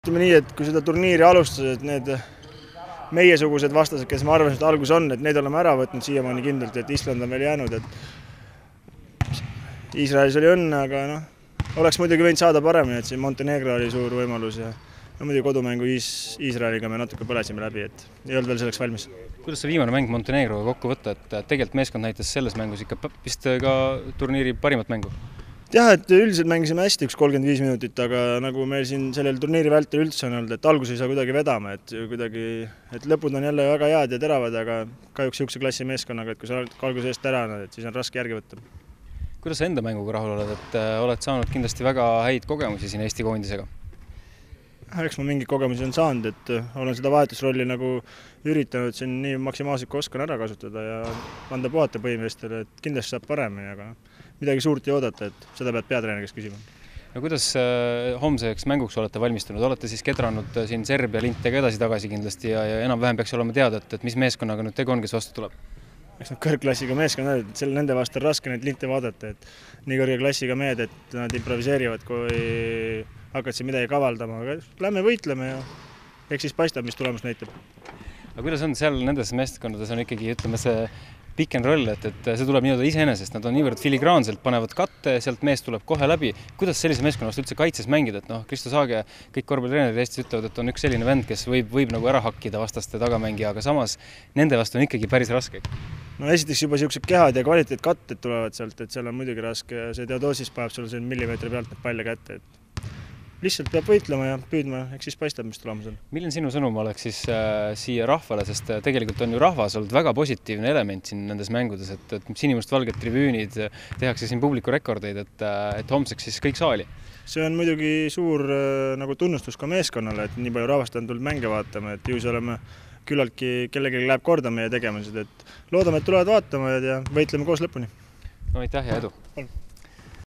Ütleme nii, et kui seda turniiri alustas, et need meiesugused vastased, kes ma arvasin, et algus on, et need oleme ära võtnud siiamaani kindlalt, et Island on veel jäänud, et Iisraelis oli õnne, aga oleks muidugi võinud saada paremini, et siin Montenegro oli suur võimalus ja muidugi kodumängu Iisraeliga me natuke põlesime läbi, et ei olnud veel selleks valmis. Kuidas see viimane mäng Montenegroga kokku võtta, et tegelikult meeskond näitas selles mängus ikka vist ka turniiri parimat mängu? Jah, et üldiselt mängisime hästi 35 minutit, aga nagu meil siin sellel turniiri vältel üldse on olnud, et algus ei saa kuidagi vedama, et lõpud on jälle väga head ja teravad, aga kahjuks niisuguse klassi meeskonnaga, et kui sa oled alguse eest ära, et siis on raske järgi võtta. Kuidas sa enda mänguga rahul oled, et oled saanud kindlasti väga häid kogemusi siin Eesti koondisega? Eks ma mingeid kogemusi on saanud, et olen seda vahetusrolli nagu üritanud siin nii maksimaalselt kui oskan ära kasutada ja anda puhata põhimeestele, et kindlasti saab paremini, aga midagi suurt ei oodata, et seda pead peatreeneri käest küsima. No kuidas homseks mänguks olete valmistunud? Olete siis kedranud siin Serbia lintega edasi-tagasi kindlasti ja enam-vähem peaks olema teada, et mis meeskonnaga nüüd tegu on, kes vastu tuleb? Eks nad kõrgklassiga meeskonnad, et nende vastu on raske neid linte vaadata, et nii kõrge klassiga mehed, et nad improviseerivad, kui hakkad siin midagi kavaldama, aga lähme võitleme ja eks siis paistab, mis tulemus näitab. Aga kuidas on seal nendes meeskondades on ikkagi, ütleme, see pick and roll, et see tuleb nii-öelda iseenesest, nad on niivõrd filigraanselt, panevad katte, sealt mees tuleb kohe läbi. Kuidas sellise meeskonnast üldse kaitses mängida, et Kristo Saage, kõik korvpallitreenerid Eestis ütlevad, et on üks selline vend, kes võib nagu ära hakkida vastaste tagamängija, aga samas nende vastu on ikkagi päris raske. No esiteks juba niisugused kehad ja kvaliteetkatted tulevad sealt, et seal on muidugi raske ja see Teodosis paneb sulle siin millimeetri pealt need palle kätte, et lihtsalt peab võitlema ja püüdma, eks siis paistab, mis tulemus on. Milline sinu sõnum oleks siis siia rahvale, sest tegelikult on ju rahvas olnud väga positiivne element siin nendes mängudes, et sinimustvalged tribüünid, tehakse siin publiku rekordeid, et homseks siis kõik saali. See on muidugi suur nagu tunnustus ka meeskonnale, et nii palju rahvast on tulnud mänge vaatama, et ju see oleme küllaltki kellelegi läheb korda meie tegemised, et loodame, et tulevad vaatama ja võitleme koos lõpuni. No aitäh ja edu!